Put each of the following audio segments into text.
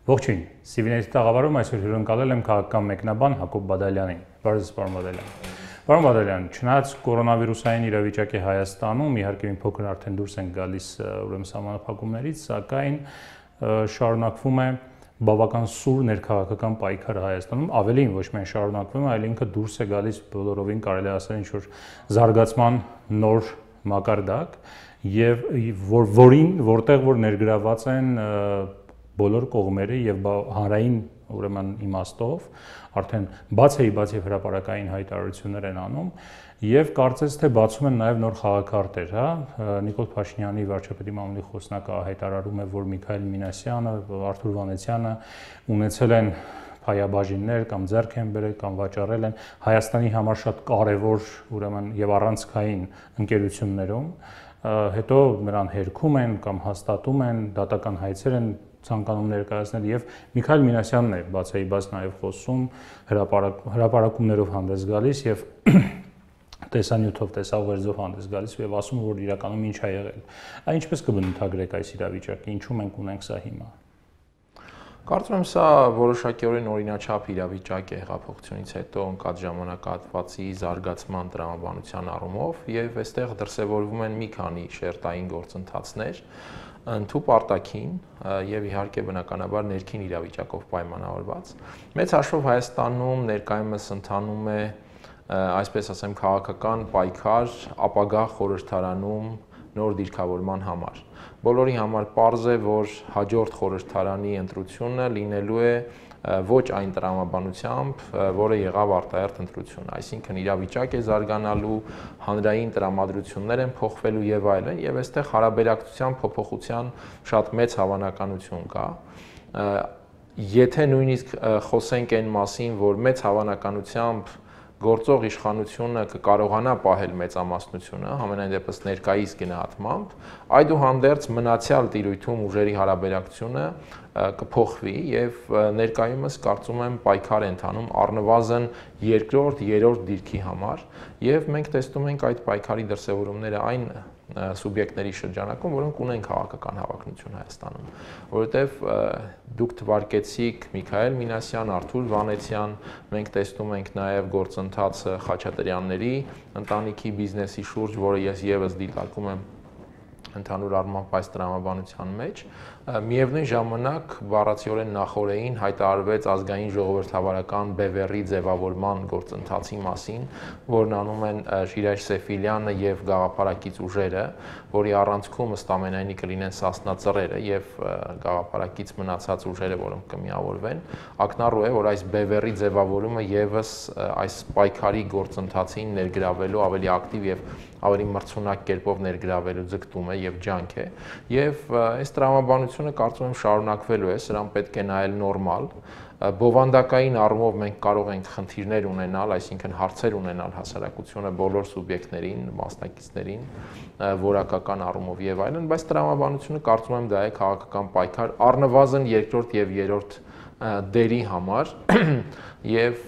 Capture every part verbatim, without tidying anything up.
Ողջույն, Սիվիների տաղավարում այսօր հյուրընկալել եմ քաղաքական մեկնաբան Հակոբ Բադալյանին։ Բարև ձեզ, պարոն Բադալյան։ Պարոն Բադալյան, չնայած կորոնավիրուսային իրավիճակի Հայաստանում, իհարկե մի փոքր արդեն դուրս են գալիս ուրեմն սահմանափակումներից, սակայն շարունակվում է բավական սուր ներքաղաքական պայքարը Հայաստանում, ավելին ոչ միայն շարունակվում է, այլ ինքը դուրս է գալիս բոլորովին կարելի է ասել ինչ-որ զարգացման նոր մակարդակ եւ որ որին որտեղ որ ներգրաված են բոլոր կողմերը եւ հանրային ուրեմն իմաստով արդեն բաց էի բաց եւ հրապարակային հայտարարություններ են անում եւ կարծես թե բացում են նաեւ նոր խաղաքարտեր, հա Նիկոլ Փաշինյանի վարչապետի մամուլի խոսնակը հայտարարում է, որ Միքայել Մինասյանը, Արթուր Վանեցյանը ունեցել են փայաբաժիններ կամ ձեռք են բերել կամ վաճառել են Հայաստանի համար շատ կարևոր ուրեմն եւ առանցքային ընկերություններում, հետո նրան հերքում են կամ հաստատում են, դատական հայցեր են ցանկանում ներկայացնել եւ Միքայել Մինասյանն է բացեի բաց նաեւ խոսում հրապարակ հրապարակումներով հանդես գալիս եւ տեսանյութով տեսավերձով հանդես գալիս եւ ասում որ իրականում ինչ է եղել։ Այն ինչպես կբնութագրեք այս իրավիճակը, ինչու մենք ունենք սա հիմա։ Կարծում եմ սա որոշակիորեն օրինաչափ իրավիճակ է հեղափոխությունից հետո ընկած ժամանակահատվածի զարգացման տրամաբանության առումով եւ այստեղ դրսեւորվում են մի քանի շերտային գործընթացներ ընդհանուր արտաքին եւ իհարկե բնականաբար ներքին իրավիճակով պայմանավորված։ Մեծ հաշվով Հայաստանում ներկայումս ընթանում է այսպես ասեմ քաղաքական պայքար ապագա խորհրդարանում նոր դիրքավորման համար։ Բոլորի համար պարզ է, որ հաջորդ խորհրդարանի ընտրությունը լինելու է ոչ այն տրամաբանությամբ, որը եղավ արտահերթ ընտրությունը, այսինքն իրավիճակ է զարգանալու, հանրային տրամադրություններ են փոխվելու եւ այլն, եւ այստեղ հարաբերակցության փոփոխության շատ մեծ հավանականություն կա։ Եթե նույնիսկ խոսենք այն մասին, որ մեծ հավանականությամբ գործող իշխանությունը կկարողանա պահել մեծամասնությունը, համենայն դեպս ներկայիս գնահատմամբ, այդուհանդերձ մնացյալ տիրույթում ուժերի հարաբերակցությունը կփոխվի եւ ներկայումս կարծում եմ պայքար է ընթանում առնվազն երկրորդ, երրորդ դիրքի համար եւ մենք տեսնում ենք այդ պայքարի դրսեւորումները այն սուբյեկտների շրջանակում, որոնք ունեն քաղաքական հավակնություն Հայաստանում, որովհետև դուք թվարկեցիք Միքայել Մինասյան, Արթուր Վանեցյան, մենք տեսնում ենք նաև գործընթացը Խաչատրյանների ընտանիքի բիզնեսի շուրջ, որը ես եւս դիտարկում եմ ընդհանուր առմամբ այս տրամաբանության մեջ, միևնույն ժամանակ բառացիորեն նախորդին հայտարարվեց ազգային ժողովրդավարական բևեռի ձևավորման գործընթացի մասին, որն անում են Շիրայր Սեֆիլյանը եւ գաղափարակից ուժերը, որի առանցքում ըստ ամենայնի կլինեն Սասնա Ծռերը եւ գաղափարակից մնացած ուժերը, որոնք կմիավորվեն, ակնառու է, որ այս բևեռի ձևավորումը եւս այս պայքարի գործընթացին ներգրավելու ավելի ակտիվ եւ ավելի մրցունակ կերպով ներգրավելու ձգտում է եւ ջանք է եւ այս տրամաբանությունը կարծում եմ շարունակվելու է, սրան պետք է նայել նորմալ բովանդակային առումով մենք կարող ենք խնդիրներ ունենալ, այսինքն հարցեր ունենալ հասարակությունը բոլոր սուբյեկտներին, մասնակիցներին, որակական առումով եւ այլն, բայց տրամաբանությունը կարծում եմ դա է քաղաքական պայքար առնվազն երկրորդ եւ երրորդ դերի համար եւ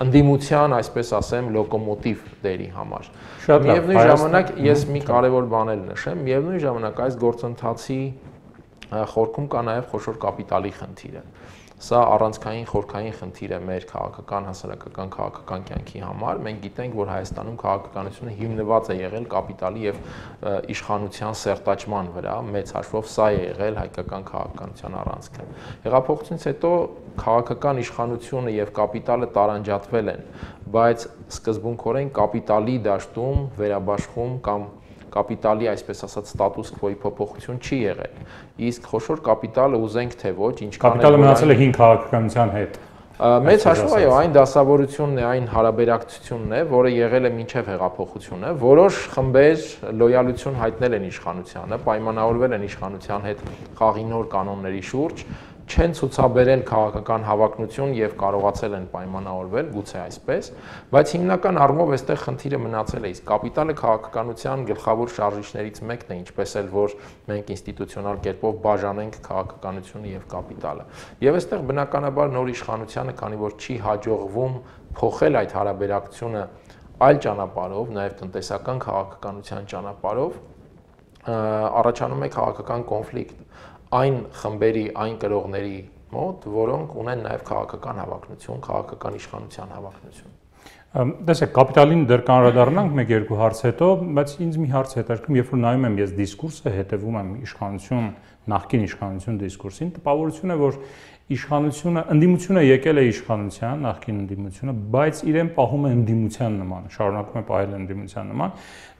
ընդդիմության, այսպես ասեմ, լոկոմոտիվ դերի համար։ Միևնույն ժամանակ ես մի կարևոր բան էլ նշեմ, միևնույն ժամանակ այս գործընթացի խորքում կա նաև խոշոր կապիտալի խնդիրը։ Սա առանցքային խորքային խնդիր է մեր քաղաքական, հասարակական, քաղաքական կյանքի համար։ Մենք գիտենք, որ Հայաստանում քաղաքականությունը հիմնված է եղել կապիտալի եւ իշխանության սերտաճման վրա, մեծ հաշվով սա է եղել հայկական քաղաքականության առանցքը։ Հեղափոխությունից հետո քաղաքական իշխանությունը եւ կապիտալը տարանջատվել են, բայց սկզբունքորեն կապիտալի դաշտում վերաբաշխում կամ կապիտալի, այսպես ասած, ստատուս քվոյի փոփոխություն չի եղել։ Իսկ խոշոր կապիտալը ուզենք թե ոչ, ինչքան կապիտալը մնացել է հին քաղաքականության հետ։ Մեծ հաշվով այո, այն դասավորությունն է, այն հարաբերակցությունն է, որը եղել է մինչև հեղափոխությունը, որոշ խմբեր լոյալություն հայտնել են իշխանությանը, պայմանավորվել են իշխանության հետ խաղի նոր կանոնների շուրջ, չեն ցուցաբերել քաղաքական հավակնություն եւ կարողացել են պայմանավորվել, գուցե այսպես, բայց հիմնական առումով այստեղ խնդիրը մնացել է, իսկ կապիտալը քաղաքականության գլխավոր շարժիչներից մեկն է, ինչպես էլ որ մենք ինստիտուցիոնալ կերպով բաժանենք քաղաքականությունը եւ կապիտալը։ Եվ այստեղ բնականաբար նոր իշխանությանը, քանի որ չի հաջողվում փոխել այդ հարաբերակցությունը այլ ճանապարհով, նաեւ տնտեսական քաղաքականության ճանապարհով, առաջանում է քաղաքական կոնֆլիկտ։ այն խմբերի, այն կրողների մոտ, որոնք ունեն նաև քաղաքական հավակնություն, քաղաքական իշխանության հավակնություն։ Տեսեք, կապիտալին դեռ կանրադառնանք մեկ-երկու հարց հետո, բայց ինձ մի հարց հետաքրքրում, երբ որ նայում եմ ես դիսկուրսը, հետևում եմ իշխանություն, նախկին իշխանություն դիսկուրսին, տպավորություն է, որ իշխանությունը, ընդդիմությունը եկել է իշխանության, նախկին ընդդիմությունը, բայց իրեն պահում է ընդդիմության նման, շարունակում է պահել ընդդիմության նման։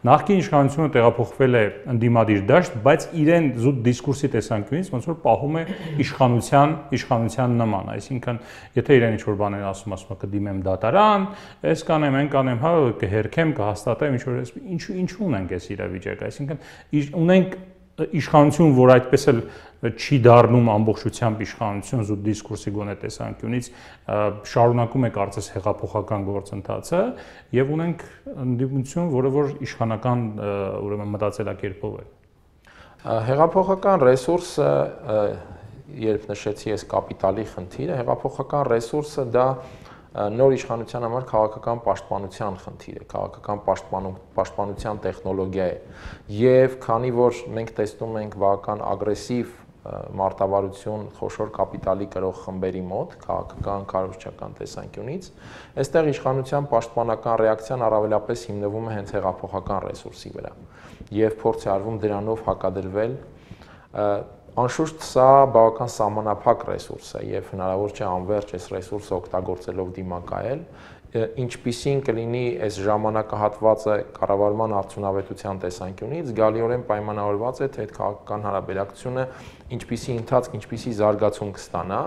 Նախկին իշխանությունը տեղափոխվել է ընդդիմադիր դաշտ, բայց իրեն զուտ դիսկուրսի տեսանկյունից ոնց որ պահում է իշխանության, իշխանության նման, այսինքն, եթե իրեն ինչ-որ բաներ ասում, ասում է կդիմեմ դատարան, այս կանեմ, այն կանեմ, հա, կհերքեմ, կհաստատեմ, ինչ-որ ինչու ինչու ունենք այս իրավիճակը, այսինքն ունենք իշխանություն, որ այդպես էլ չի դառնում ամբողջությամբ իշխանություն զուտ դիսկուրսի գոնե տեսանկյունից, շարունակում է կարծես հեղափոխական գործընթացը եւ ունենք ընդդիմություն, որը որ իշխանական ուրեմն մտածելակերպով է։ Հեղափոխական ռեսուրսը, երբ նշեցի ես կապիտալի խնդիրը, հեղափոխական ռեսուրսը դա նոր իշխանության համար քաղաքական պաշտպանության խնդիր է, քաղաքական պաշտպանության տեխնոլոգիա է եւ քանի որ մենք տեսնում ենք բավական ագրեսիվ մարտավարություն խոշոր կապիտալի կրող խմբերի մոտ, քաղաքական, կառավարչական տեսանկյունից, այստեղ իշխանության պաշտպանական ռեակցիան առավելապես հիմնվում է հենց հեղափոխական ռեսուրսի վրա եւ փորձ է արվում դրանով հակադրվել Անշուշտ սա բավական սահմանափակ ռեսուրս է եւ հնարավոր չէ անվերջ այս ռեսուրսը օգտագործելով դիմակայել, ինչպիսին կլինի այս ժամանակահատվածը կառավարման արդյունավետության տեսանկյունից, զգալիորեն պայմանավորված է թե այդ քաղաքական հարաբերակցությունը ինչպիսի ընթացք, ինչպիսի զարգացում կստանա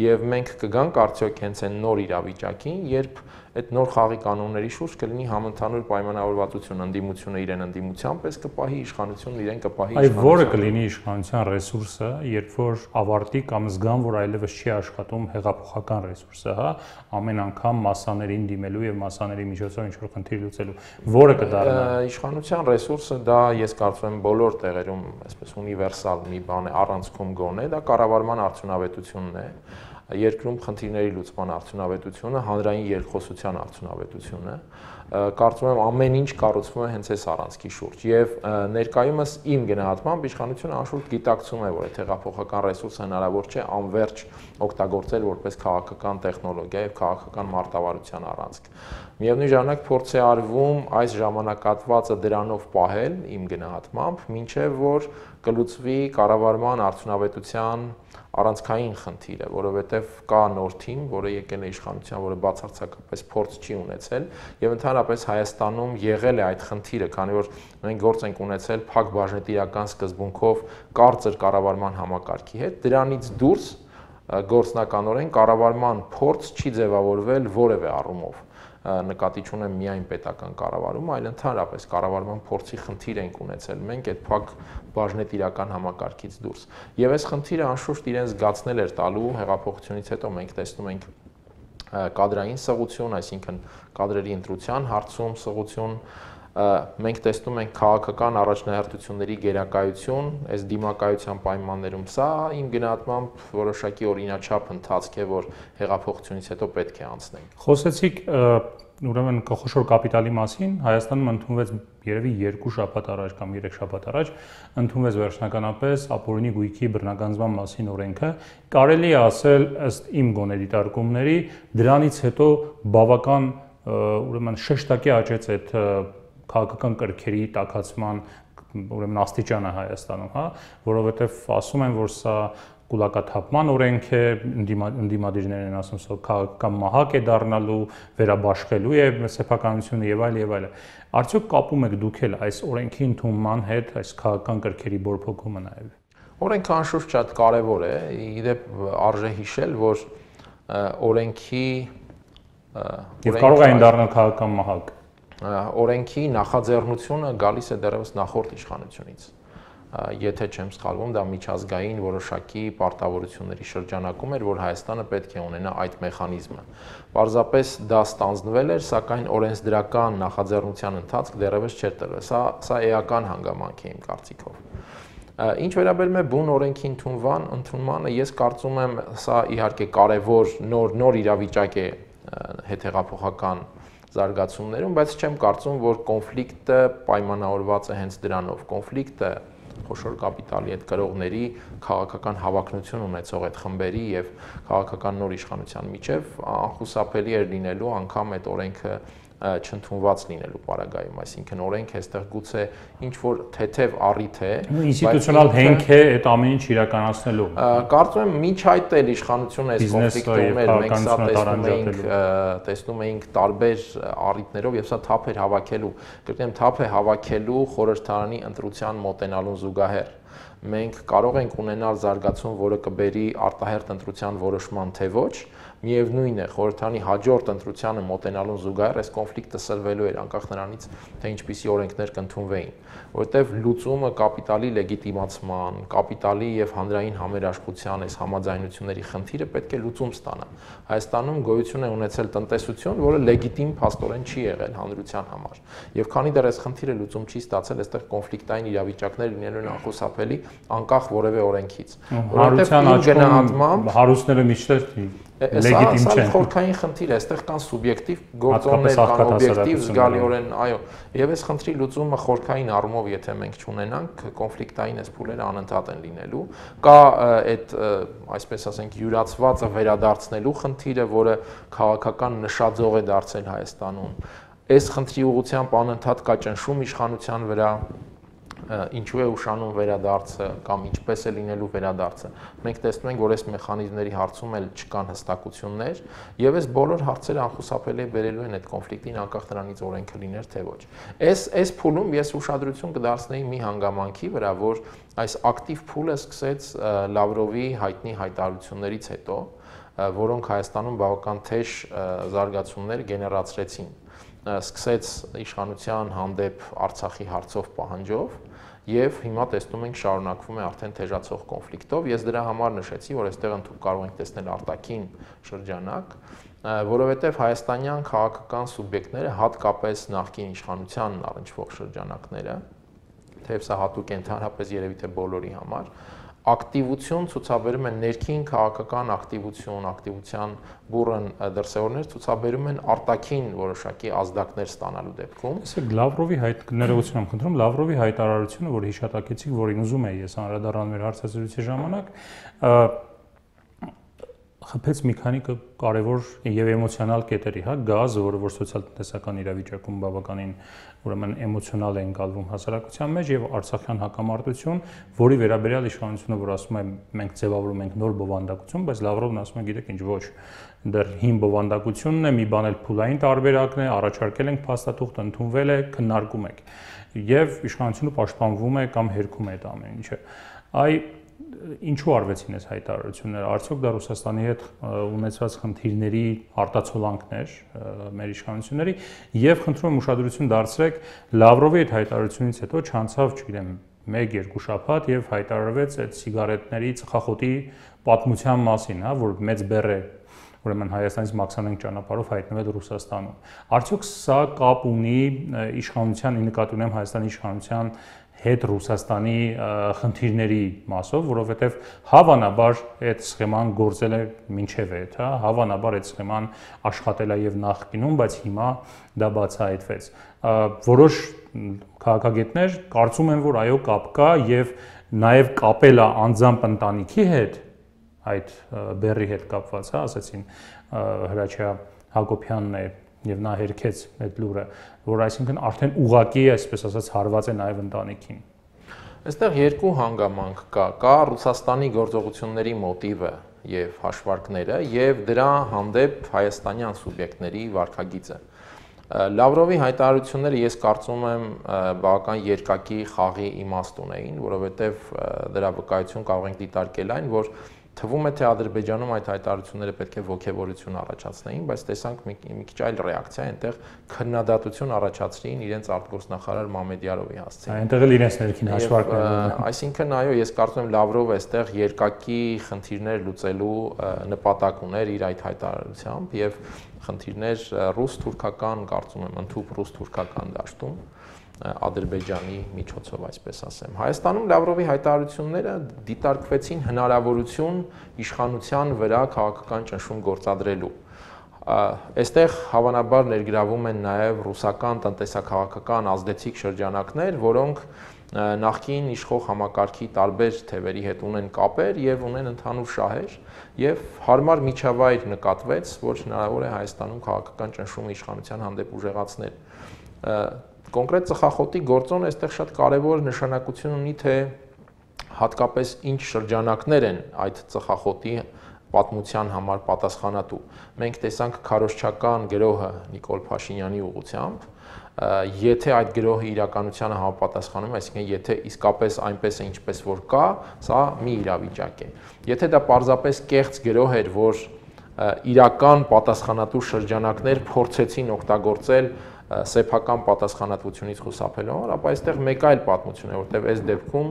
եւ մենք կգանք արդյոք հենց այն նոր իրավիճակին, երբ այդ նոր խաղի կանոնների շուրջ կլինի համընդհանուր պայմանավորվածություն, ընդդիմությունը իրեն ընդդիմության պես կպահի, իշխանությունն իրեն կպահի իշխանության։ Այ որը կլինի իշխանության ռեսուրսը, երբ որ ավարտի կամ զգան, որ այլևս չի աշխատում հեղափոխական ռեսուրսը, հա, ամեն անգամ մասսաներին դիմելու եւ մասսաների միջոցով ինչ-որ խնդիր լուծելու, որը կդառնա։ Իշխանության ռեսուրսը դա ես կարծում եմ բոլոր տեղերում, այսպես ունիվերսալ մի բան է, առանցքում գոնե, դա կառավարման արդյունավետությունն է։ Երկրում խնդիրների լուծման արդյունավետությունը, հանրային երկխոսության արդյունավետությունը, կարծում եմ ամեն ինչ կառուցվում է հենց այս առանցքի շուրջ եւ ներկայումս իմ գնահատմամբ իշխանությունը անշուշտ գիտակցում է, որ այդ հեղափոխական ռեսուրսը հնարավոր չէ անվերջ օգտագործել որպես քաղաքական տեխնոլոգիա եւ քաղաքական մարտավարության առանցք։ Միևնույն ժամանակ փորձ է արվում այս ժամանակահատվածը դրանով պահել իմ գնահատմամբ, մինչեւ որ կլուծվի կառավարման արդյունավետության առանցքային խնդիրը, որովհետև կա նոր թիմ, որը եկել է իշխանության, որը բացարձակապես փորձ չի ունեցել եւ ընդհանրապես Հայաստանում եղել է այդ խնդիրը, քանի որ մենք գործ ենք ունեցել փակ բաժնետիրական սկզբունքով կարծր կառավարման համակարգի հետ, դրանից դուրս գործնականորեն կառավարման փորձ չի ձևավորվել որևէ առումով նկատի չունեմ միայն պետական կառավարումը, այլ ընդհանրապես կառավարման փորձի խնդիր ենք ունեցել մենք այդ փակ բաժնետիրական համակարգից դուրս։ Եվ այս խնդիրը անշուշտ իրեն զգացնել էր տալու հեղափոխությունից հետո մենք տեսնում ենք կադրային սղություն, այսինքն կադրերի ընտրության հարցում սղություն, մենք տեսնում ենք քաղաքական առաջնահերթությունների գերակայություն, այս դիմակայության պայմաններում սա իմ գնահատմամբ որոշակի օրինաչափ ընթացք է, որ հեղափոխությունից հետո պետք է անցնենք։ Խոսեցիք ուրեմն խոշոր կապիտալի մասին, Հայաստանում ընդունվեց երևի երկու շաբաթ առաջ կամ երեք շաբաթ առաջ ընդունվեց վերջնականապես ապօրինի գույքի բռնագանձման մասին օրենքը, կարելի է ասել ըստ իմ գոնե դիտարկումների, դրանից հետո բավական ուրեմն շեշտակի աճեց այդ քաղաքական կրքերի տաքացման ուրեմն աստիճանը Հայաստանում, հա, որովհետև ասում են, որ սա կուլակաթափման օրենք է, ընդդիմադիրներն են ասում, որ քաղաքական մահակ է դառնալու, վերաբաշխելու է սեփականությունը եւ այլ եւ այլ։ Արդյոք կապում եք դուք էլ այս օրենքի ընդունման հետ, այս քաղաքական կրքերի բորբոքումը նաեւ։ Օրենքը անշուշտ շատ կարեւոր է, իդեպ արժե հիշել, որ օրենքի եւ կարող է դառնալ քաղաքական մահակ։ Օրենքի նախաձեռնությունը գալիս է դեռևս նախորդ իշխանությունից։ Եթե չեմ սխալվում, դա միջազգային որոշակի պարտավորությունների շրջանակում էր, որ Հայաստանը պետք է ունենա այդ մեխանիզմը։ Պարզապես դա ստանձնվել էր, սակայն օրենսդրական նախաձեռնության ընթացք դեռևս չէր տրվել։ Սա սա էական հանգամանք է իմ կարծիքով։ Ինչ վերաբերում է բուն օրենքի ընդունման, ընդունմանը, ես կարծում եմ, սա իհարկե կարևոր նոր նոր իրավիճակ է հետհեղափոխական զարգացումներում, բայց չեմ կարծում, որ կոնֆլիկտը պայմանավորված է հենց դրանով։ Կոնֆլիկտը խոշոր կապիտալի այդ գրողների քաղաքական հավակնություն ունեցող այդ խմբերի եւ քաղաքական նոր իշխանության միջև անխուսափելի էր լինելու անգամ այդ օրենքը չընդունված լինելու պարագայում, այսինքն օրենքը այստեղ գուցե ինչ որ թեթև առիթ է, ինստիտուցիոնալ հենք է այդ ամեն ինչ իրականացնելու։ Կարծում եմ մինչ այդ էլ իշխանությունը այս կոնֆլիկտում էր, մենք սա տեսնում էինք, տեսնում էինք տարբեր առիթներով եւ սա թափ էր հավաքելու, կրկնեմ թափ է հավաքելու խորհրդարանի ընտրության մոտենալուն զուգահեռ։ Մենք կարող ենք ունենալ զարգացում, որը կբերի արտահերթ ընտրության որոշման, թե ոչ, միևնույն է, խորհրդարանի հաջորդ ընտրությանը մոտենալուն զուգահեռ այս կոնֆլիկտը սրվելու էր անկախ նրանից, թե ինչպիսի օրենքներ կընդունվեին, որովհետև լուծումը կապիտալի լեգիտիմացման, կապիտալի եւ հանրային համերաշխության այս համաձայնությունների խնդիրը պետք է լուծում ստանա։ Հայաստանում գոյություն է ունեցել տնտեսություն, որը լեգիտիմ փաստորեն չի եղել հանրության համար։ Եվ քանի դեռ այս խնդիրը լուծում չի ստացել, այստեղ կոնֆլիկտային իրավիճակներ լինելու են անխուսափելի, անկախ որևէ օրենքից։ Հանրության աչքում հարուստները միշտ լեգիտիմ չեն։ Սա խորքային խնդիր է, այստեղ կան սուբյեկտիվ գործոններ, կան օբյեկտիվ զգալիորեն, այո, եւ այս խնդրի լուծումը խորքային առումով, եթե մենք չունենանք, կոնֆլիկտային այս փուլերը անընդհատ են լինելու։ Կա այդ, այսպես ասենք, յուրացվածը վերադարձնելու խնդիրը, որը քաղաքական նշաձող է դարձել Հայաստանում։ Այս խնդրի ուղղությամբ անընդհատ կա ճնշում իշխանության վրա, ինչու է ուշանում վերադարձը կամ ինչպես է լինելու վերադարձը։ Մենք տեսնում ենք, որ այս մեխանիզմների հարցում էլ չկան հստակություններ, եւ այս բոլոր հարցերը անխուսափելի բերելու են այդ կոնֆլիկտին, անկախ նրանից օրենքը լիներ թե ոչ։ Այս այս փուլում ես ուշադրություն կդարձնեի մի հանգամանքի վրա, որ այս ակտիվ փուլը սկսեց Լավրովի հայտնի հայտարարություններից հետո, որոնք Հայաստանում բավական թեժ զարգացումներ գեներացրեցին։ Սկսեց իշխանության հանդեպ Արցախի հարցով պահանջով եւ հիմա տեսնում ենք շարունակվում է արդեն թեժացող կոնֆլիկտով։ Ես դրա համար նշեցի, որ այստեղ ընդհանուր կարող ենք տեսնել արտաքին շրջանակ, որովհետեւ հայաստանյան քաղաքական սուբյեկտները, հատկապես նախկին իշխանությանն առնչվող շրջանակները, թեև սա հատուկ է ընդհանրապես երևի թե բոլորի համար, ակտիվություն ցուցաբերում են ներքին քաղաքական ակտիվություն, ակտիվության բուրըն դրսևորներ ցուցաբերում են արտաքին որոշակի ազդակներ ստանալու դեպքում։ Իսկ Լավրովի հայտ ներողություն եմ խնդրում, Լավրովի հայտարարությունը, որ հիշատակեցիք, որին ուզում էի ես անդրադառնալ մեր հարցազրույցի ժամանակ, խփեց մի քանի կարևոր եւ էմոցիոնալ կետերի, հա, գազը, որը որ սոցիալ-տնտեսական իրավիճակում բավականին ուրեմն էմոցիոնալ է ընկալվում հասարակության մեջ, եւ Արցախյան հակամարտություն, որի վերաբերյալ իշխանությունը, որ ասում է մենք ձևավորում ենք նոր բովանդակություն, բայց Լավրովն ասում է, գիտեք ինչ, ոչ, դեռ հին բովանդակությունն է, մի բան էլ փուլային տարբերակն է, առաջարկել ենք փաստաթուղթ, ընդունվել է, քննարկում ենք, եւ իշխանությունը պաշտպանվում է կամ հերքում է այդ ամեն ինչը։ Այ ինչու արվեցին այս հայտարարությունները, արդյոք դա Ռուսաստանի հետ ունեցած խնդիրների արտացոլանքներ մեր իշխանությունների, եւ խնդրում եմ ուշադրություն դարձրեք Լավրովի այդ հայտարարությունից հետո չանցավ, չգիտեմ, մեկ-երկու շաբաթ եւ հայտարարվեց այդ սիգարետների ծխախոտի պատմության մասին, հա, որ մեծ բեռ է ուրեմն Հայաստանից մաքսանենք ճանապարհով հայտնվել Ռուսաստանում։ Արդյոք սա կապ ունի իշխանության, նկատի ունեմ Հայաստանի իշխանության հետ Ռուսաստանի խնդիրների մասով, որովհետև հավանաբար այդ սխեման գործել է մինչև այդ, հա, հավանաբար այդ սխեման աշխատել է եւ նախկինում, բայց հիմա դա բացահայտվեց։ Որոշ քաղաքագետներ կարծում են, որ այո կապ կա եւ նաեւ կապել է անձամբ ընտանիքի հետ, այդ բեռի հետ կապված, հա, ասացին Հրաչյա Հակոբյանն է եւ նա հերքեց այդ լուրը, որ այսինքն արդեն ուղակի, այսպես ասած, հարված է նաեւ ընտանիքին։ Այստեղ երկու հանգամանք կա, կա Ռուսաստանի գործողությունների մոտիվը եւ հաշվարկները եւ դրա հանդեպ հայաստանյան սուբյեկտների վարքագիծը։ Լավրովի հայտարարությունները ես կարծում եմ բավական երկակի խաղի իմաստ ունեին, որովհետեւ դրա վկայություն կարող ենք դիտարկել այն, որ թվում է թե Ադրբեջանում այդ հայտարարությունները պետք է ոգևորություն առաջացնեին, բայց տեսանք մի, մի քիչ այլ ռեակցիա, այնտեղ քննադատություն առաջացրին իրենց արտգործնախարար Մամեդյարովի հասցեին։ Այնտեղ էլ իրենց ներքին հաշվարկներ ունեն։ Այսինքն այո, ես կարծում եմ Լավրովը այստեղ երկակի խնդիրներ լուծելու նպատակ ուներ իր այդ հայտարարությամբ եւ խնդիրներ ռուս-թուրքական, կարծում եմ, ընդհանուր ռուս-թուրքական դաշտում Ադրբեջանի միջոցով, այսպես ասեմ։ Հայաստանում Լավրովի հայտարարությունները դիտարկվեցին հնարավորություն իշխանության վրա քաղաքական ճնշում գործադրելու։ Այստեղ հավանաբար ներգրավում են նաև ռուսական տնտեսակաղակական ազդեցիկ շրջանակներ, որոնք նախկին իշխող համակարգի տարբեր թևերի հետ ունեն կապեր եւ ունեն ընդհանուր շահեր եւ հարմար միջավայր նկատվեց, որ հնարավոր է Հայաստանում քաղաքական ճնշումը իշխանության հանդեպ ուժեղացնել։ Կոնկրետ ծխախոտի գործոնը այստեղ շատ կարեւոր նշանակություն ունի, թե հատկապես ինչ շրջանակներ են այդ ծխախոտի պատմության համար պատասխանատու։ Մենք տեսանք քարոզչական գրոհը Նիկոլ Փաշինյանի ուղղությամբ, եթե այդ գրոհը իրականությանը համապատասխանում է, այսինքն եթե իսկապես այնպես է ինչպես որ կա, սա մի իրավիճակ է։ Եթե դա պարզապես կեղծ գրոհ էր, որ իրական պատասխանատու շրջանակներ փորձեցին օգտագործել սեփական պատասխանատվությունից խուսափելու համար, ապա այստեղ մեկ այլ պատմություն է, որտեղ այս դեպքում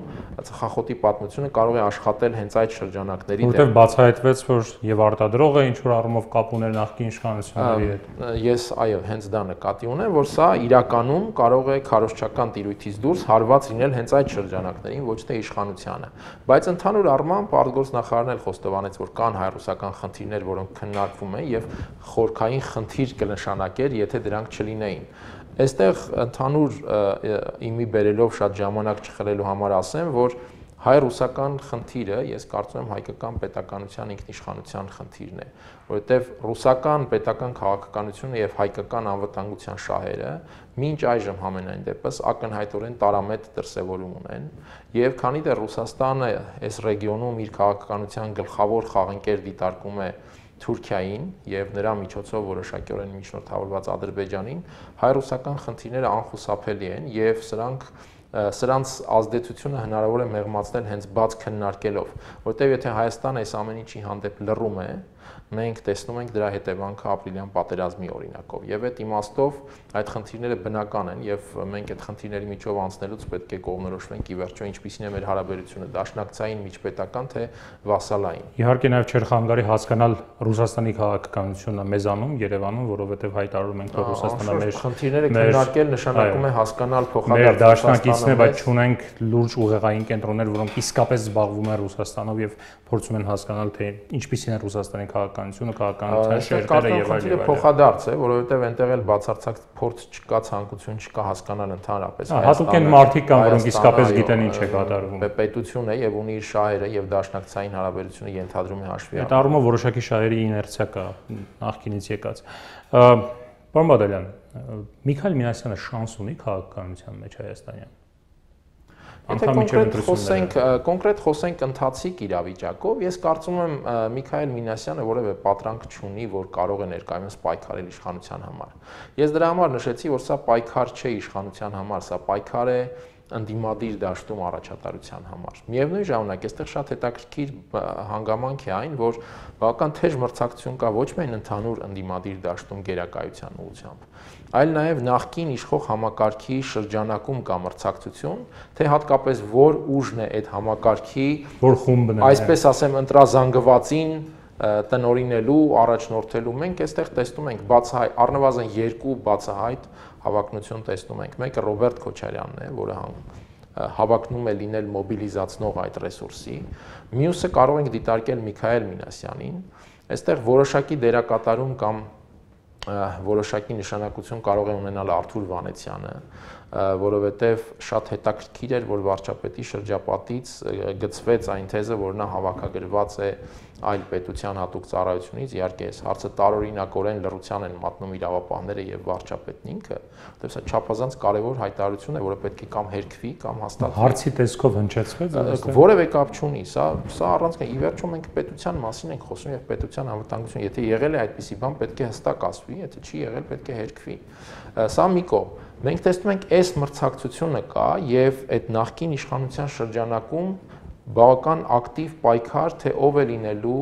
ծխախոտի պատմությունը կարող է աշխատել հենց այդ շրջանակների դեմ։ Որտեղ բացահայտվեց, որ եւ արտադրողը ինչ որ առումով կապ ուներ նախկին իշխանությունների հետ։ Ես այո, հենց դա նկատի ունեմ, որ սա իրականում կարող է քարոզչական տիրույթից դուրս հարված լինել հենց այդ շրջանակներին, ոչ թե իշխանությանը։ Բայց ընդհանուր առմամբ արտգործնախարարն էլ խոստովանեց, որ կան հայ-ռուսական խնդիրներ, որոնք քննարկվում են եւ խորքային խնդիր կնշանակեր, եթե դրանք չլինեին։ Այստեղ ընդհանուր իմի բերելով շատ ժամանակ չխլելու համար ասեմ, որ հայ-ռուսական խնդիրը, ես կարծում եմ հայկական պետականության ինքնիշխանության խնդիրն է, որովհետև ռուսական պետական քաղաքականությունը եւ հայկական անվտանգության շահերը մինչ այժմ համենայն դեպս ակնհայտորեն տարամետ դրսևորում ունեն, եւ քանի դեռ Ռուսաստանը այս ռեգիոնում իր քաղաքականության գլխավոր խաղընկեր դիտարկում է Թուրքիային եւ նրա միջոցով որոշակիորեն միջնորդավորված Ադրբեջանին, հայ-ռուսական խնդիրները անխուսափելի են եւ սրանք սրանց ազդեցությունը հնարավոր է մեղմացնել հենց բաց քննարկելով, որտեղ եթե Հայաստանը այս ամեն ինչի հանդեպ լռում է, մենք տեսնում ենք դրա հետևանքը ապրիլյան պատերազմի օրինակով եւ այդ իմաստով այդ խնդիրները բնական են եւ մենք այդ խնդիրների միջով անցնելուց պետք է կողմնորոշվենք ի վերջո ինչպիսին է մեր հարաբերությունը դաշնակցային, միջպետական թե վասալային։ Իհարկե նաեւ չէր խանգարի հասկանալ Ռուսաստանի քաղաքականությունը մեզանում, Երևանում, որովհետեւ հայտարարում ենք, որ Ռուսաստանը մեր խնդիրները քննարկել նշանակում է հասկանալ փոխադարձ դաշնակիցն է, բայց չունենք լուրջ ուղեղային կենտրոններ, որոնք իսկապես զբաղվում են Ռուսաստանով եւ փորձում են հասկանալ, թե ինչպիսին է Ռուսաստանի քաղաքականությունը, քաղաքականության շերտերը եւ այլն։ Փոխադարձ է, որովհետեւ այնտեղ էլ բացարձակ փորձ չկա, ցանկություն չկա հասկանալ ընդհանրապես։ Հատուկ են մարդիկ կան, որոնք իսկապես գիտեն ինչ է կատարվում։ Պետություն է եւ ունի իր շահերը եւ դաշնակցային հարաբերությունը ենթադրում է հաշվի առնել։ Այդ առումով որոշակի շահերի իներցիա կա նախկինից եկած։ Պարոն Բադալյան, Միքայել Մինասյանը շանս ունի քաղաքականության մեջ հայաստանյան։ Եթե կոնկրետ խոսենք, կոնկրետ խոսենք ընթացիկ իրավիճակով, ես կարծում եմ Միքայել Մինասյանը որևէ պատրանք չունի, որ կարող է ներկայումս պայքարել իշխանության համար։ Ես դրա համար նշեցի, որ սա պայքար չէ իշխանության համար, սա պայքար է ընդդիմադիր դաշտում առաջատարության համար։ Միևնույն ժամանակ, այստեղ շատ հետաքրքիր հանգամանք է այն, որ բավական թեժ մրցակցություն կա ոչ միայն ընդհանուր ընդդիմադիր դաշտում գերակայության ուղղությամբ, այլ նաև նախկին իշխող համակարգի շրջանակում կա մրցակցություն, թե հատկապես որ ուժն է այդ համակարգի, որ խումբն է, այսպես ասեմ, ընտրազանգվածին տնօրինելու, առաջնորդելու։ Մենք այստեղ տեսնում ենք բացահայտ, առնվազն երկու բացահայտ հավակնություն տեսնում ենք։ Մեկը Ռոբերտ Քոչարյանն է, որը հավակնում է լինել մոբիլիզացնող այդ ռեսուրսի։ Մյուսը կարող ենք դիտարկել Միքայել Մինասյանին։ Այստեղ որոշակի դերակատարում կամ որոշակի նշանակություն կարող է ունենալ Արթուր Վանեցյանը, որովհետև շատ հետաքրքիր էր, որ վարչապետի շրջապատից գծվեց այն թեզը, որ նա հավաքագրված է այլ պետության հատուկ ծառայությունից, իհարկե այս հարցը տարօրինակորեն լռության են մատնում իրավապահները եւ վարչապետն ինքը, որտեղ սա չափազանց կարեւոր հայտարարություն է, որը պետք է կամ հերքվի, կամ հաստատվի։ Հարցի տեսքով հնչեցվեց, որևէ կապ չունի, սա սա առանցք է, ի վերջո մենք պետության մասին ենք խոսում եւ պետության անվտանգություն, եթե եղել է այդպիսի բան, պետք է հստակ ասվի, եթե չի եղել, պետք է հերքվի։ Սա մի կողմ։ Մենք տեսնում ենք, այս մրցակցությունը կա եւ այդ նախկին իշխանության շրջանակում բավական ակտիվ պայքար, թե ով է լինելու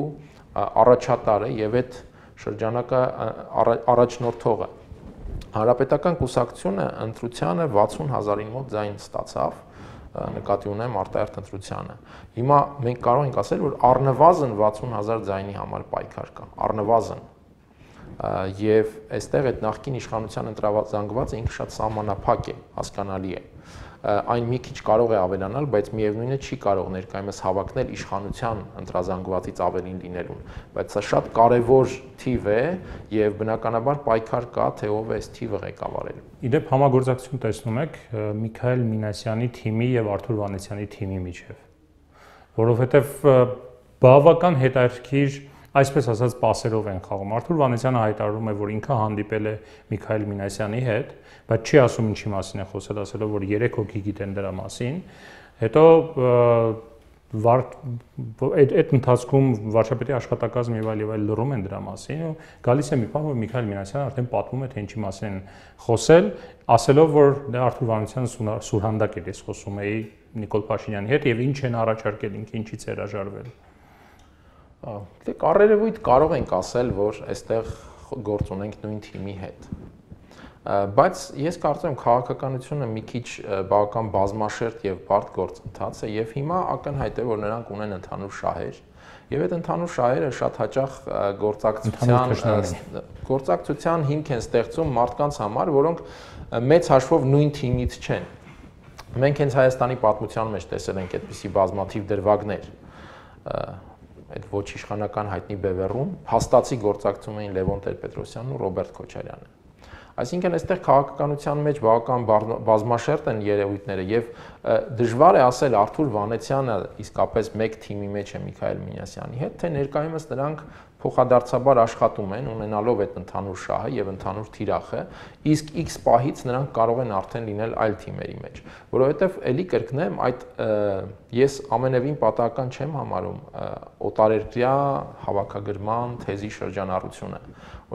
առաջատարը եւ այդ շրջանակը առաջնորդողը։ Հանրապետական կուսակցությունը ընտրությանը վաթսուն հազարին մոտ ձայն ստացավ, նկատի ունեմ արտահերթ ընտրությանը։ Հիմա մենք կարող ենք ասել, որ առնվազն վաթսուն հազար ձայնի համար պայքար կա, առնվազն։ Եվ այստեղ այդ նախկին իշխանության ընտրազանգվածը ինքը շատ սահմանափակ է, հասկանալի է։ այն մի քիչ կարող է ավելանալ, բայց միևնույնն է չի կարող ներկայումս հավակնել իշխանության ընտրազանգվածից ավելին լինելուն, բայց սա շատ կարևոր թիվ է եւ բնականաբար պայքար կա, թե ով է այս թիվը ղեկավարելու։ Իդեպ համագործակցություն տեսնում եք Միքայել Մինասյանի թիմի եւ Արթուր Վանեցյանի թիմի միջեւ, որովհետեւ բավական հետաքրքիր, այսպես ասած, պասերով են խաղում։ Արթուր Վանեցյանը հայտարարում է, որ ինքը հանդիպել է Միքայել Մինասյանի հետ, բայց չի ասում ինչի մասին է խոսել, ասելով, որ երեք հոգի գիտեն դրա մասին։ Հետո այդ ընթացքում վարչապետի աշխատակազմ եւ այլ եւ այլ լռում են դրա մասին ու գալիս է մի բան, որ Միքայել Մինասյանը արդեն պատմում է, թե ինչի մասին են խոսել, ասելով, որ դա Արթուր Վանեցյանը սուրհանդակ է, ես խոսում էի Նիկոլ Փաշինյանի հետ եւ ինչ են առաջարկել, ինքը ինչից է հրաժարվել։ Դե կառերևույթ կարող ենք ասել, որ այստեղ գործ ունենք նույն թիմի հետ։ Բայց ես կարծում եմ քաղաքականությունը մի քիչ բավական բազմաշերտ եւ բարդ գործընթաց է եւ հիմա ակնհայտ է, որ նրանք ունեն ընդհանուր շահեր եւ այդ ընդհանուր շահերը շատ հաճախ գործակցության գործակցության հիմք են ստեղծում մարդկանց համար, որոնք մեծ հաշվով նույն թիմից չեն։ Մենք հենց Հայաստանի պատմության մեջ տեսել ենք այդպիսի բազմաթիվ դրվագներ, այդ ոչ իշխանական հայտնի բևեռում հաստացի գործակցում էին Լևոն Տեր-Պետրոսյանն ու Ռոբերտ Քոչարյանը։ Այսինքն այստեղ քաղաքականության մեջ բավական բազմաշերտ են երևույթները եւ դժվար է ասել Արթուր Վանեցյանը իսկապես մեկ թիմի մեջ է Միքայել Մինասյանի հետ, թե ներկայումս նրանք փոխադարձաբար աշխատում են ունենալով այդ ընդհանուր շահը եւ ընդհանուր թիրախը, իսկ X պահից նրանք կարող են արդեն լինել այլ թիմերի մեջ, որովհետեւ ելի կրկնեմ, այդ ես ամենևին պատահական չեմ համարում օտարերկրյա հավաքագրման թեզի շրջանառությունը,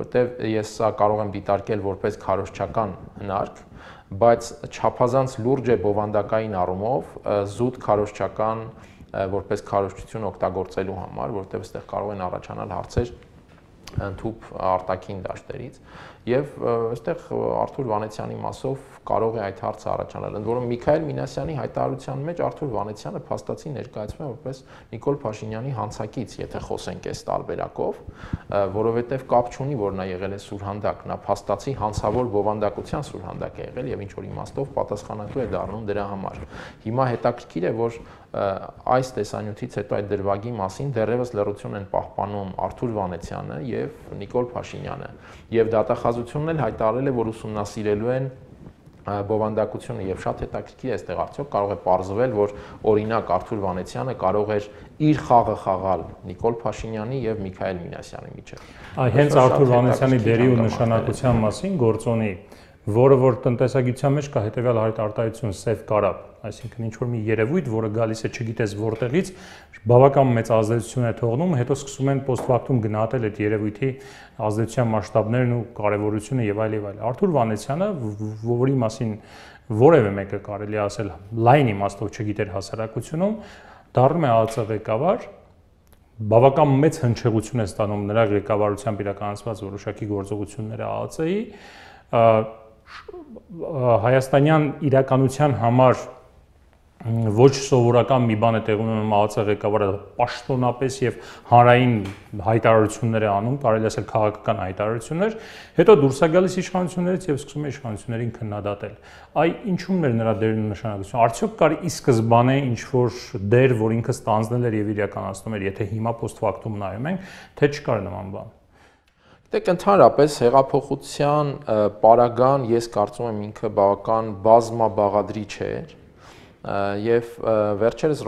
որովհետեւ ես սա կարող եմ դիտարկել որպես քարոզչական հնարք, բայց չափազանց լուրջ է բովանդակային առումով զուտ քարոզչական որպես քարոզչություն օգտագործելու համար, որտեղ այստեղ կարող են առաջանալ հարցեր ընդհուպ արտաքին դաշտերից եւ այստեղ Արթուր Վանեցյանի մասով կարող է այդ հարցը առաջանալ, ընդ որում Միքայել Մինասյանի հայտարարության մեջ Արթուր Վանեցյանը փաստացի ներկայացվում է որպես Նիկոլ Փաշինյանի հանցակից, եթե խոսենք այս տարբերակով, որովհետեւ կապ չունի, որ նա եղել է սուրհանդակ, նա փաստացի հանցավոր բովանդակության սուրհանդակ է եղել եւ ինչ որ իմաստով պատասխանատու է դառնում դրա համար։ Հիմա հետաքրքիր է, որ այս տեսանյութից հետո այդ դրվագի մասին դեռևս լռություն են պահպանում Արթուր Վանեցյանը եւ Նիկոլ Փաշինյանը եւ դատախազությունն էլ հայտարարել է, որ ուսումնասիրելու են բովանդակությունը եւ շատ հետաքրքիր է այստեղ արդյոք կարող է պարզվել, որ օրինակ Արթուր Վանեցյանը կարող էր իր խաղը խաղալ Նիկոլ Փաշինյանի եւ Միքայել Մինասյանի միջեւ։ Այ հենց Արթուր Վանեցյանի դերի ու նշանակության մասին գործոնի, որը որ տնտեսագիտության մեջ կա հետեւյալ արտահայտություն սև կարապ, այսինքն ինչ որ մի երևույթ, որը գալիս է չգիտես որտեղից, բավական մեծ ազդեցություն է թողնում, հետո սկսում են post-factum գնահատել այդ երևույթի ազդեցության մասշտաբներն ու կարևորությունը եւ այլ եւ այլ։ Արթուր Վանեցյանը, որի մասին որևէ մեկը կարելի ասել լայն իմաստով չգիտեր հասարակությունում, դառնում է ԱԱԾ ղեկավար, բավական մեծ հնչեղություն է ստանում նրա ղեկավարությամբ իրականացված որոշակի գործողությունները ԱԱԾ-ի, հայաստանյան իրականության համար ոչ սովորական մի բան է տեղի ունենում ԱԱԾ ղեկավարը պաշտոնապես եւ հանրային հայտարարություններ է անում, կարելի ասել քաղաքական հայտարարություններ, հետո դուրս է գալիս իշխանություններից եւ սկսում է իշխանություններին քննադատել։ Այ ինչու՞մն էր նրա դերն ու նշանակությունը։ Արդյոք կար ի սկզբանե ինչ որ դեր, որ ինքը ստանձնել էր եւ իրականացնում էր, եթե հիմա post-factum նայում ենք, թե չկար նման բան։ Դեք ընդհանրապես հեղափոխության պարագան ես կարծում եմ ինքը բավական բազմաբաղադրիչ էր եւ վերջերս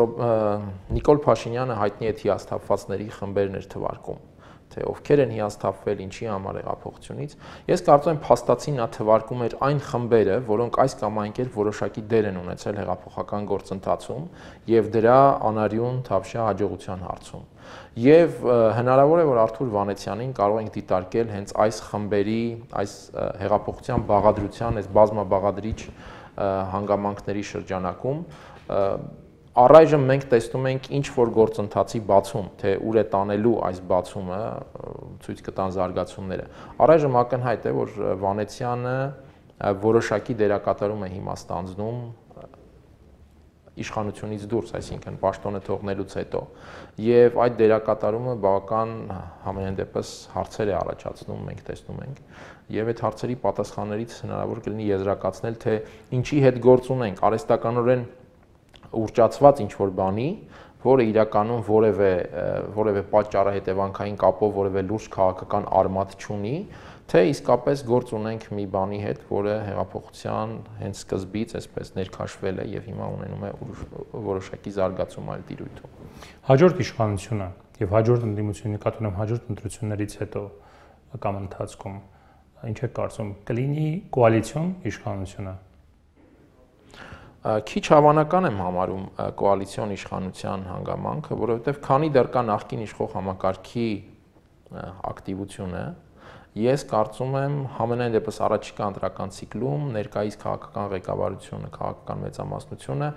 Նիկոլ Փաշինյանը հայտնի է հիասթափվածների խմբերն էր թվարկում, թե ովքեր են հիասթափվել, ինչի համար հեղափոխությունից։ Ես կարծում եմ փաստացի նա թվարկում էր այն խմբերը, որոնք այս կամ այն կերպ որոշակի դեր են ունեցել հեղափոխական գործընթացում եւ դրա անարյուն թավշյա հաջողության հարցում։ Եվ հնարավոր է, որ Արթուր Վանեցյանին կարող ենք դիտարկել հենց այս խմբերի, այս հեղափոխության բաղադրության, այս բազմաբաղադրիչ հանգամանքների շրջանակում առայժմ մենք տեսնում ենք ինչ որ գործընթացի բացում, թե ուր է տանելու այս բացումը, ցույց կտան զարգացումները։ Առայժմ ակնհայտ է, որ Վանեցյանը որոշակի դերակատարում է հիմա ստանձնում իշխանությունից դուրս, այսինքն պաշտոնը թողնելուց հետո, եւ այդ դերակատարումը բավական համենայն դեպս հարցեր է առաջացնում, մենք տեսնում ենք, եւ այդ հարցերի պատասխաններից հնարավոր կլինի եզրակացնել, թե ինչի հետ գործ ունենք, արհեստականորեն ուռճացված ինչ-որ բանի, որը իրականում որևէ որևէ պատճառահետևանքային կապով որևէ լուրջ քաղաքական արմատ չունի, թե իսկապես գործ ունենք մի բանի հետ, որը հեղափոխության հենց սկզբից այսպես ներքաշվել է եւ հիմա ունենում է որոշակի զարգացում այլ տիրույթում։ Հաջորդ իշխանությունը եւ հաջորդ ընդդիմությունը նկատի ունեմ հաջորդ ընտրություններից հետո կամ ընթացքում ինչ է կարծում կլինի կոալիցիոն իշխանությունը։ Քիչ հավանական եմ համարում կոալիցիոն իշխանության հանգամանքը, որովհետև քանի դեռ կա նախկին իշխող համակարգի ակտիվությունը, ես կարծում եմ համենայն դեպս առաջիկա ընտրական ցիկլում ներկայիս քաղաքական ղեկավարությունը, քաղաքական մեծամասնությունը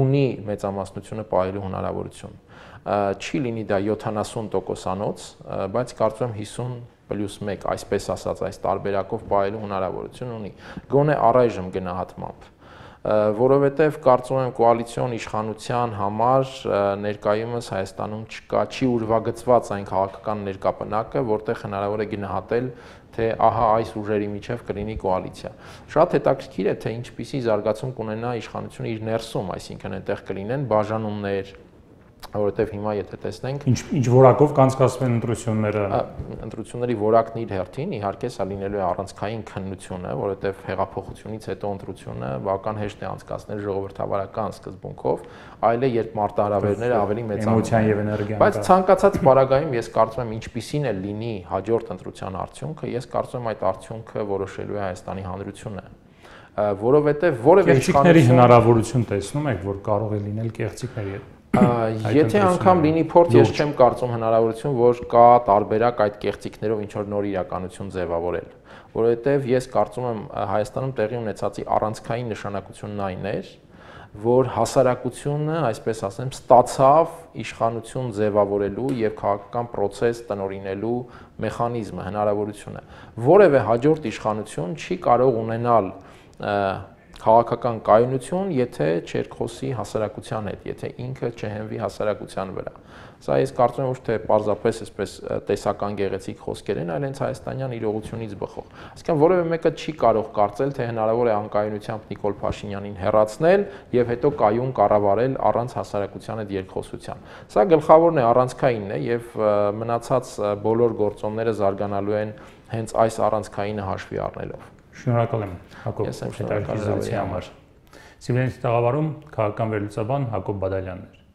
ունի մեծամասնությունը պահելու հնարավորություն։ Չի լինի դա յոթանասուն տոկոսանոց, բայց կարծում եմ հիսուն պլյուս մեկ, այսպես ասած, այս տարբերակով պահելու հնարավորություն ունի։ Գոնե առայժմ գնահատմամբ, որովհետև կարծում եմ կոալիցիոն իշխանության համար ներկայումս Հայաստանում չկա, չի ուրվագծված այն քաղաքական ներկապնակը, որտեղ հնարավոր է գնահատել, թե ահա այս ուժերի միջև կլինի կոալիցիա։ Շատ հետաքրքիր է, թե ինչպիսի զարգացում կունենա իշխանությունը իր ներսում, այսինքն այնտեղ կլինեն բաժանումներ, որովհետև հիմա եթե տեսնենք ինչ ինչ որակով կանցկացվեն ընտրությունները, ընտրությունների որակն իր հերթին իհարկե սա լինելու է առանցքային քննությունը, որովհետև հեղափոխությունից հետո ընտրությունը բավական հեշտ է անցկացնել ժողովրդավարական սկզբունքով, այլ է երբ մարտահրավերները ավելի էմոցիան եւ էներգիան։ Բայց ցանկացած պարագայում ես կարծում եմ ինչպիսին է լինի հաջորդ ընտրության արդյունքը, ես կարծում եմ այդ արդյունքը որոշելու է Հայաստանի Հանրությունը, որովհետև որևէ իշխանությունների հնարավորություն տեսնում եք, որ կարող է լինել կեղծիքների հետ։ Եթե անգամ լինի փորձ, ես չեմ կարծում հնարավորություն, որ կա տարբերակ այդ կեղծիքներով ինչ որ նոր իրականություն ձևավորել, որովհետև ես կարծում եմ Հայաստանում տեղի ունեցածի առանցքային նշանակությունն այն էր, որ հասարակությունը, այսպես ասեմ, ստացավ իշխանություն ձևավորելու եւ քաղաքական process տնօրինելու մեխանիզմը, հնարավորությունը։ Որևէ հաջորդ իշխանություն չի կարող ունենալ քաղաքական կայունություն, եթե չերխոսի հասարակության հետ, եթե ինքը չհենվի հասարակության վրա։ Սա ես կարծում եմ ոչ թե պարզապես այսպես տեսական գեղեցիկ խոսքեր են, այլ հենց հայաստանյան իրողությունից բխող։ Այսինքն որևէ մեկը չի կարող կարծել, թե հնարավոր է անկայունությամբ Նիկոլ Փաշինյանին հեռացնել եւ հետո կայուն կառավարել առանց հասարակության հետ երկխոսության։ Սա գլխավորն է, առանցքայինն է եւ մնացած բոլոր գործոնները զարգանալու են հենց այս առանցքայինը հաշվի առնելով։ Շնորհակալ եմ Հակոբ, հետաքրքիր զրույցի համար։ Սիմոնյանի տաղավարում քաղաքական վերլուծաբան Հակոբ Բադալյանն էր։